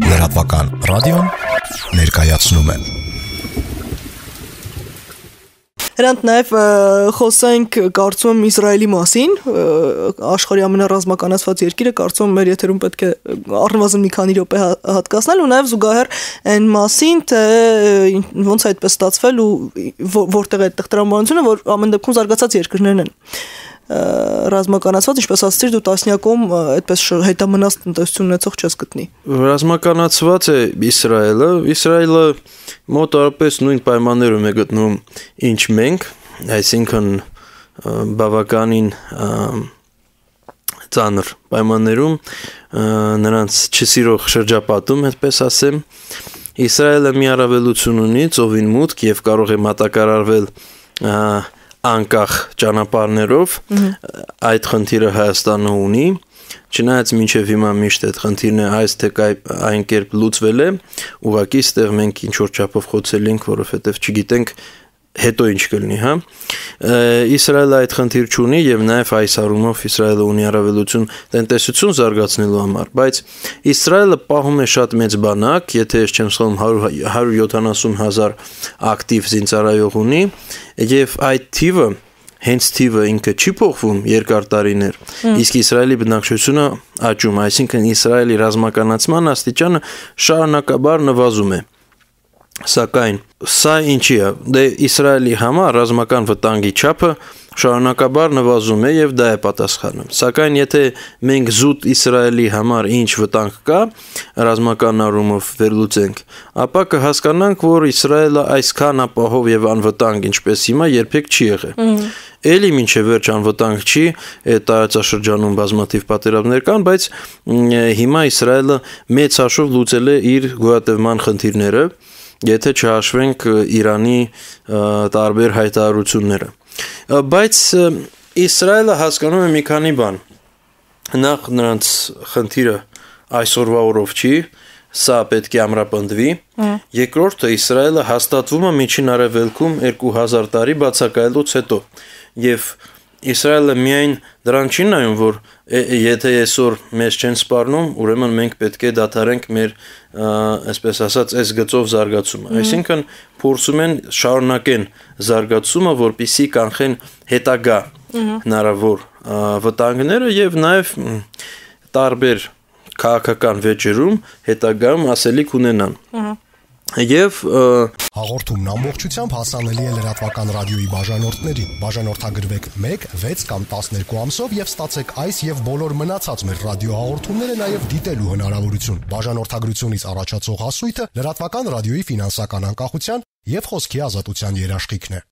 Լրատվական ռադիոն ներկայացնում է։ Հրանտ նաև խոսենք կարծում եմ Իսրայելի մասին, աշխարհի ամենառազմականացված երկիրը, կարծում եմ մեր եթերում պետք է առնվազն մի քանի րոպե հատկացնել ու նաև զուգահեռ այն մասին, թե ոնց է այդպես ստացվել ու որտեղ է այդտեղ տրամաբանությունը, որ ամեն դեպքում զարգացած երկրներն են ռազմականացված, ինչպես ասացիր, դու տասնյակում այդպես հետամնաց տնտեսություն ունեցող չես գտնի։ Ռազմականացված է Իսրայելը մոտավորապես նույն պայմաններում է գտնվում, ինչ մենք, այսինքն բավականին ծանր պայմաններում, նրանց չսիրող շրջապատում, այդպես ասեմ, Իսրայելը մի առավելություն ունի, ծովին մուտք եւ կարող է մատակարարվել անկախ ճանապարհներով, այդ խնդիրը Հայաստանը ունի, չնայած մինչև հիմա միշտ այդ խնդիրն է այս թե այն կերպ լուծվել է, ուղղակի ստեղ մենք ինչ որ չափով խոցել ենք, որովհետև չգիտենք հետո ինչ կլինի, հա։ Իսրայելը այդ խնդիր չունի եւ նաեւ այս առումով Իսրայելը ունի առավելություն տնտեսություն զարգացնելու համար, բայց Իսրայելը պահում է շատ մեծ բանակ, եթե ես չեմ սխալվում 170,000 ակտիվ զինծառայող ունի եւ այդ թիվը հենց թիվը ինքը չի փոխվում երկար տարիներ, իսկ Իսրայելի բնակչությունը աճում, այսինքն Իսրայելի ռազմականացման աստիճանը շարունակաբար նվազում է։ Սակայն սա ինչի է, դե Իսրայելի համար ռազմական վտանգի չափը շարունակաբար նվազում է եւ դա է պատասխանը։ Սակայն եթե մենք զուտ Իսրայելի համար ինչ վտանգ կա, ռազմական առումով վերլուծենք, ապա կհասկանանք, որ Իսրայելը այսքան ապահով եւ անվտանգ ինչպես հիմա երբեք չի եղել։ Էլի մինչև վերջ անվտանգ չի, այդ տարածաշրջանում բազմաթիվ պատերազմներ կան, բայց հիմա Իսրայելը մեծ հաշվով լուծել է իր գոյատևման խնդիրները, եթե չհաշվենք Իրանի տարբեր հայտարարությունները։ Բայց Իսրայելը հասկանում է մի քանի բան։ Նախ նրանց խնդիրը այսօրվա օրով չի, սա պետք է ամրապնդվի։ Երկրորդը Իսրայելը հաստատվում է Միջին Արևելքում 2000 տարի բացակայելուց հետո։ Եվ Իսրայելը միայն դրան չի նայում, որ եթե այսօր մեզ չեն սպառնում, ուրեմն մենք պետք է դադարենք մեր, այսպես ասած, այս գծով զարգացումը։ Այսինքն փորձում են շարունակեն զարգացումը, որպեսզի կանխեն հետագա հնարավոր վտանգները եւ նաեւ տարբեր քաղաքական վեճերում հետագայում ասելիք ունենան։ Եվ հաղորդումն ամբողջությամբ հասանելի է լրատվական ռադիոյի բաժանորդներին։ Բաժանորդագրվեք 1, 6 կամ 12 ամսով եւ ստացեք այս եւ բոլոր մնացած մեր ռադիոհաղորդումները նաեւ դիտելու հնարավորություն։ Բաժանորդագրությունից առաջացող հասույթը լրատվական ռադիոյի ֆինանսական անկախության եւ խոսքի ազատության երաշխիքն է։